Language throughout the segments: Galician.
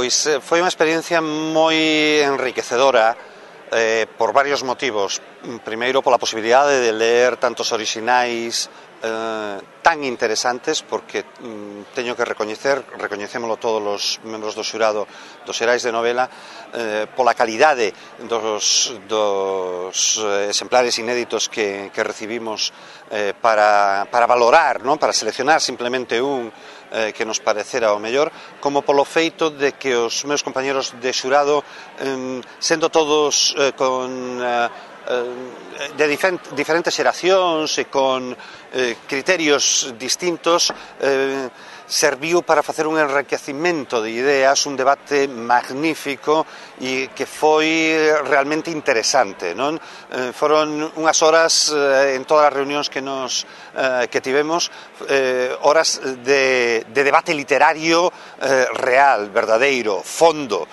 Pois foi unha experiencia moi enriquecedora por varios motivos. Primeiro, pola posibilidade de ler tantos orixinais tan interesantes, porque teño que recoñecémolo todos os membros do xurado dos Xerais de Novela, pola calidade dos exemplares inéditos que recibimos para valorar, non? Para seleccionar simplemente un que nos parecera o mellor, como polo feito de que os meus compañeros de xurado, sendo todos de diferentes xeracións e con criterios distintos, serviu para facer un enriquecimento de ideas, un debate magnífico e que foi realmente interesante, non? Foron unhas horas en todas as reunións que tivemos, horas de debate literario real, verdadeiro, fondo,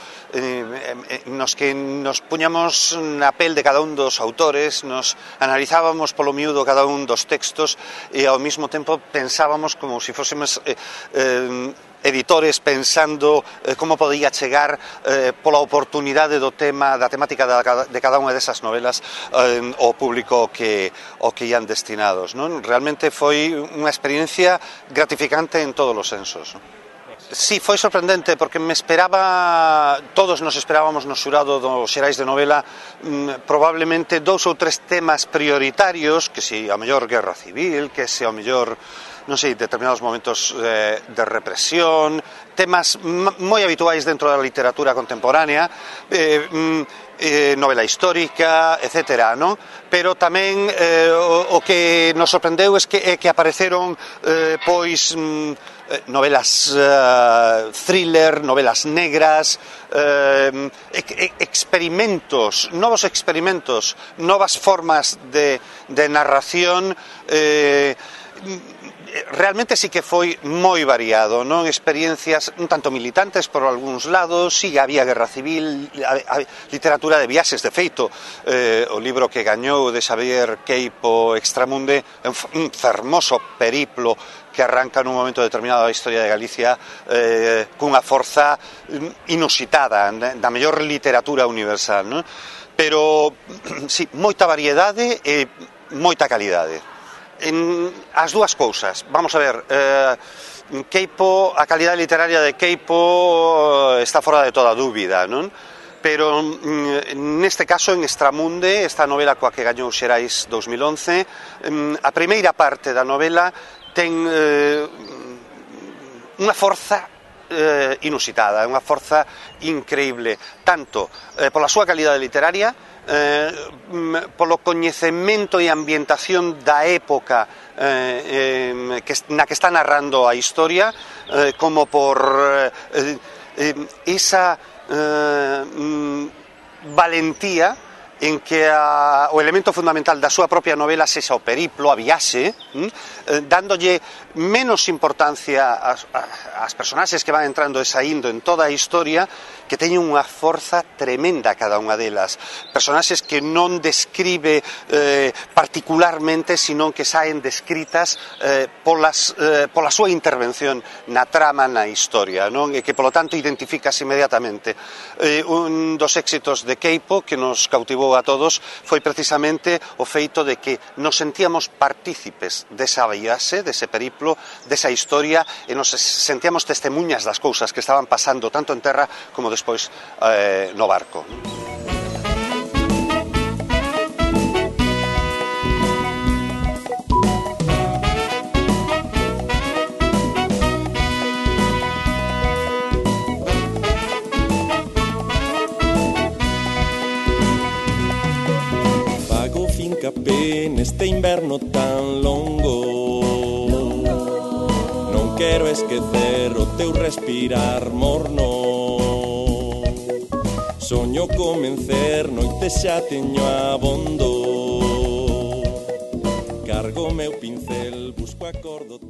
nos que nos puñamos na pel de cada un dos autores, nos analizábamos polo miúdo cada un dos textos e ao mesmo tempo pensábamos como se fósemos editores pensando como podía chegar pola oportunidade do tema, da temática de cada unha desas novelas ao público ao que ian destinados, non? Realmente foi unha experiencia gratificante en todos os sensos, non? Sí, foi sorprendente porque todos nos esperábamos no xurado dos Xerais de Novela probablemente 2 ou 3 temas prioritarios, que se ao mellor guerra civil, que se ao mellor, non sei, determinados momentos de represión, temas moi habituais dentro da literatura contemporánea, novela histórica, etc., non? Pero tamén o que nos sorprendeu é que apareceron pois novelas thriller, novelas negras, novos experimentos, novas formas de narración. Realmente sí que foi moi variado, non? Experiencias un tanto militantes por algúns lados, sí, había guerra civil, literatura de viaxes, de feito, o libro que gañou de Xavier Queipo, Extramunde, un fermoso periplo que arranca nun momento determinado da historia de Galicia cunha forza inusitada, da mellor literatura universal, non? Pero, sí, moita variedade e moita calidade. As dúas cousas, vamos a ver, Queipo, a calidade literaria de Queipo está fora de toda dúbida, non? Pero neste caso, en Extramunde, esta novela coa que gañou Xerais 2011, a primeira parte da novela ten unha forza inusitada, unha forza increíble, tanto pola súa calidade literaria, polo coñecemento e ambientación da época na que está narrando a historia, como por esa valentía en que o elemento fundamental da súa propia novela sexa o periplo, a viaxe, dándolle menos importancia ás personaxes que van entrando e saindo en toda a historia, que teñen unha forza tremenda cada unha delas. Personaxes que non describe particularmente, senón que saen descritas pola súa intervención na trama, na historia, non? E que, polo tanto, identificas inmediatamente. Un dos éxitos de Queipo que nos cautivou a todos foi precisamente o feito de que nos sentíamos partícipes desa viaxe, dese periplo, desa historia, e nos sentíamos testemunhas das cousas que estaban pasando tanto en terra como despois no barco. Neste inverno tan longo, non quero esquecer o teu respirar morno. Soño comencer, noite xa teño abondo. Cargo meu pincel, busco acordo.